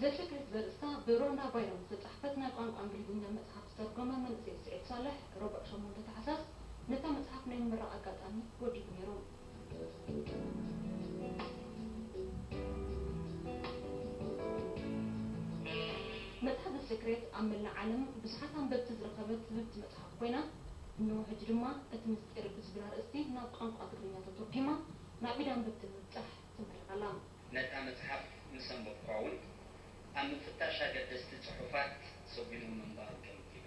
The Secret ዘርእስታ ብሮንዳ ባይሮን ዝተጻሕፈት ናይ ቋንቋ እንግሊዝኛ መጽሓፍ ዝተርጎመ መንእሰይ ስዒድ ሳልሕ፣ ረቡዕ ሸሞንተ ታሕሳስ ነታ መጽሓፍ ናይ ምምራቕ ኣጋጣሚ ወዲቡ ነይሩ። መጽሓፍ The Secret ኣብ መላእ ዓለም ብዙሓት ኣንበብቲ ዝረኸበት ህብብቲ መጽሓፍ ኮይና፣ እንሆ ሕጂ ድማ እቲ ምስጢር ብዝብል ኣርእስቲ ናብ ቋንቋ ትግርኛ ተተርጒማ ናብ ኢድ ኣንበብቲ ንምብጻሕ ትምርቕ ኣላ። ነታ መጽሓፍ ምስ ኣንበብኩዋ እውን፣ ኣብ ምፍታሽ ኣገደስቲ ጽሑፋት ሰጒሙ ምንባሩ ተመኪነ።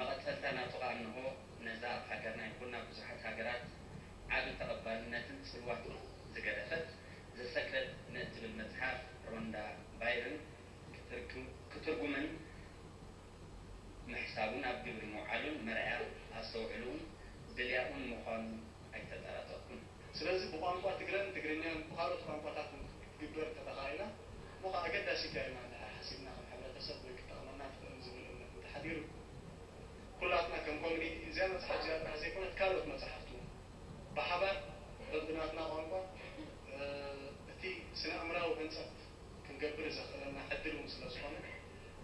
መቐጸልታ ናቱ ከኣ እንሆ፣ ነዛ ኣብ ሃገርና ይኹን ኣብ ብዙሓት ሃገራት ዓቢ ተቐባልነትን ጽልዋትን ዝገደፈት The Secret ንእትብል መጽሓፍ ሮንዳ ባይርን ክትርጉ-፣ ክትርጉምን ምሕሳቡን ኣብ ግብሪ ምውዓሉን መርኣያ ኣስተውዕልኡን ድልያኡን ምዃኑ ኣይተጠራጠርኩን። ስለዚ ብቋንቋ ትግረን ትግርኛን ብኻልኦት ቋንቋታት እውን ክትግበር እንተተኻኢላ፣ እሞ ኸዓ ኣገዳሲት እያ ኢልና እንድሕር ሓሲብና፣ ከም ሕብረተሰብ ወይ ክትጠቕመና ትኽእል ዝብል እምነት እንተሓዲሩ፣ ኩላትና ከም ኮሚኒቲ እዚኣ መጽሓፍ እዚኣ ጥራሕ ዘይኮነት ካልኦት መጽሓፍቲ እውን ብሓባር በብናትና ቋንቋ፣ እ፣ እቲ ስነ ኣእምራዊ ህንጸት ክንገብር ዘኽእለና ዕድል እውን ስለ ዝኾነ፣ እቲ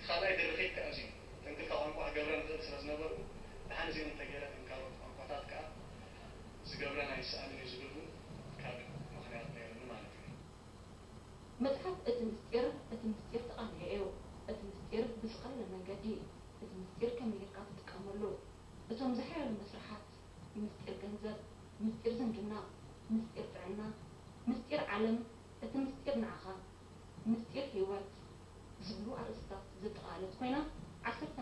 ካልኣይ ድርኺት ከኣ እዚ እዩ። እተን ክልተ ቋንቋ ክገብራ ንኽእል ስለ ዝነበርኩ፣ ደሓን እዚአን እንተገይረ እተን ካልኦት ቋንቋታት ከኣ ዝገብረን ኣይሰኣንን እዩ ዝብል እውን ካልእ ምኽንያት ነይሩኒ ማለት እዩ። መጽሓፍ እቲ ምስጢር፣ እቲ ምስጢር ተቓንዮ እዩ። እቲ ምስጢር ብዝቐለለ መንገዲ፣ እቲ ምስጢር ከመይ ጌርካ ትጥቀመሉ? እቶም ዝሓየሉ መስርሓት፣ ምስጢር ገንዘብ፣ ምስጢር ዝምድና፣ ምስጢር ጥዕና፣ ምስጢር ዓለም፣ እቲ ምስጢር ንዓኻ፣ ምስጢር ህይወት ዝብሉ ኣርእስታት ዘጠቓለለት ኮይና፣ ዓሰርተ